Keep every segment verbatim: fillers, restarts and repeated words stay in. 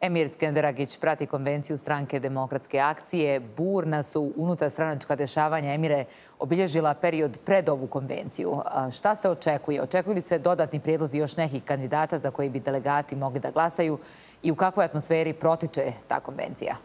Emir Skenderagić prati konvenciju stranke Demokratske akcije. Burna su unutarstranačka dešavanja, Emire, obilježila period pred ovu konvenciju. Šta se očekuje? Očekuju li se dodatni prijedlozi još nekih kandidata za koji bi delegati mogli da glasaju i u kakvoj atmosferi protiče ta konvencija?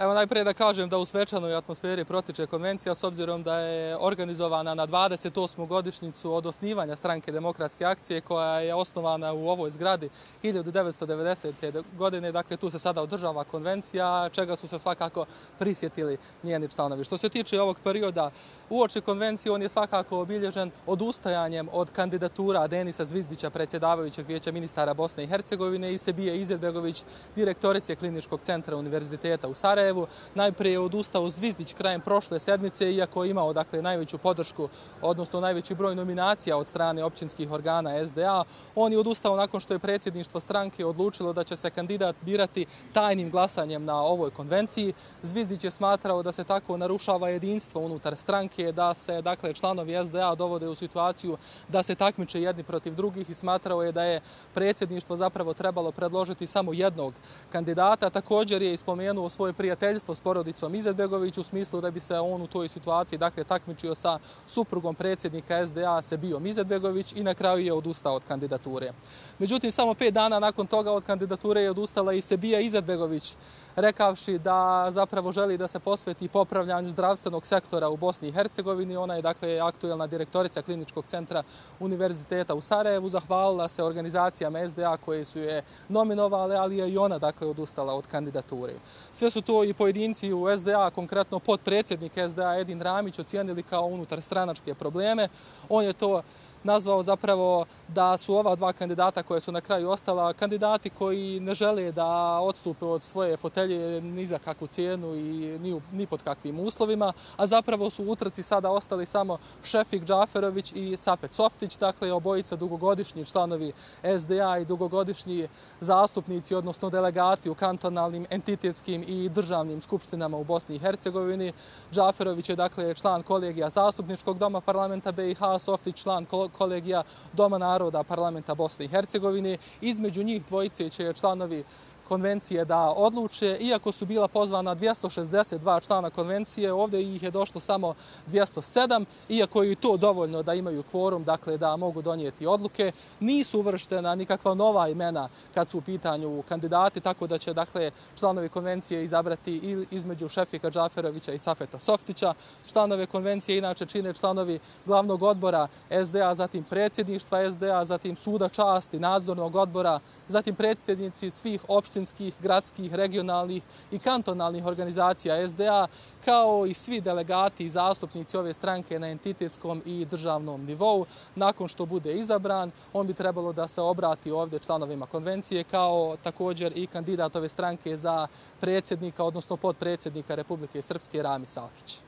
Evo najprije da kažem da u svečanoj atmosferi protiče konvencija s obzirom da je organizovana na dvadeset osmu godišnjicu od osnivanja stranke Demokratske akcije koja je osnovana u ovoj zgradi hiljadu devetsto devedesete. godine. Dakle, tu se sada održava konvencija, čega su se svakako prisjetili njeni članovi. Što se tiče ovog perioda uoči konvencije, on je svakako obilježen odustajanjem od kandidatura Denisa Zvizdića, predsjedavajućeg Vijeća ministara Bosne i Hercegovine, i Sebije Izetbegović, direktorice Kliničkog centra Univerziteta u Sarajevu. Najprije je odustao Zvizdić krajem prošle sedmice, iako je imao dakle, najveću podršku, odnosno najveći broj nominacija od strane općinskih organa S D A. On je odustao nakon što je predsjedništvo stranke odlučilo da će se kandidat birati tajnim glasanjem na ovoj konvenciji. Zvizdić je smatrao da se tako narušava jedinstvo unutar stranke, da se dakle, članovi S D A dovode u situaciju da se takmiče jedni protiv drugih i smatrao je da je predsjedništvo zapravo trebalo predložiti samo jednog kandidata. Također je ispomenuo svoje prijateljstvo s porodicom Izetbegović u smislu da bi se on u toj situaciji dakle, takmičio sa suprugom predsjednika S D A Sebijom Izetbegović i na kraju je odustao od kandidature. Međutim, samo pet dana nakon toga od kandidature je odustala i Sebija Izetbegović, rekavši da zapravo želi da se posveti popravljanju zdravstvenog sektora u Bosni i Hercegovini. Ona je dakle aktuelna direktorica Kliničkog centra Univerziteta u Sarajevu. Zahvalila se organizacijama S D A koje su je nominovale, ali je i ona dakle odustala od kandidature. Sve su to i pojedinci u S D A, konkretno potpredsjednik S D A Edin Ramić, ocijenili kao unutar stranačke probleme. On je to nazvao zapravo da su ova dva kandidata koje su na kraju ostala kandidati koji ne žele da odstupe od svoje fotelje ni za kakvu cijenu i ni, ni pod kakvim uslovima, a zapravo su u utrci sada ostali samo Šefik Džaferović i Safet Softić, dakle obojica dugogodišnji članovi S D A i dugogodišnji zastupnici, odnosno delegati u kantonalnim, entitetskim i državnim skupštinama u Bosni i Hercegovini. Džaferović je dakle član kolegija Zastupničkog doma parlamenta B i H, Softić član kolegija Doma naroda parlamenta Bosne i Hercegovine. Između njih dvojice će članovi konvencije da odluče. Iako su bila pozvana dvjesto šezdeset dva člana konvencije, ovdje ih je došlo samo dvjesto sedam, iako je i to dovoljno da imaju kvorum, dakle da mogu donijeti odluke. Nisu uvrštena nikakva nova imena kad su u pitanju kandidati, tako da će dakle članovi konvencije izabrati između Šefika Džaferovića i Safeta Softića. Članove konvencije inače čine članovi glavnog odbora S D A, zatim predsjedništva S D A, zatim suda časti, nadzornog odbora, zatim predsjednici svih opština, gradskih, regionalnih i kantonalnih organizacija S D A, kao i svi delegati i zastupnici ove stranke na entitetskom i državnom nivou. Nakon što bude izabran, on bi trebalo da se obrati ovdje članovima konvencije, kao također i kandidat ove stranke za predsjednika, odnosno potpredsjednika Republike Srpske Rami Salkić.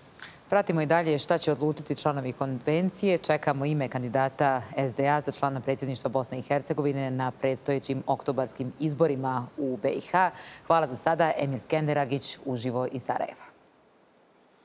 Pratimo i dalje šta će odlučiti članovi konvencije. Čekamo ime kandidata S D A za člana predsjedništva Bosne i Hercegovine na predstojećim oktobarskim izborima u B i H. Hvala za sada. Emir Skenderagić uživo iz Sarajeva.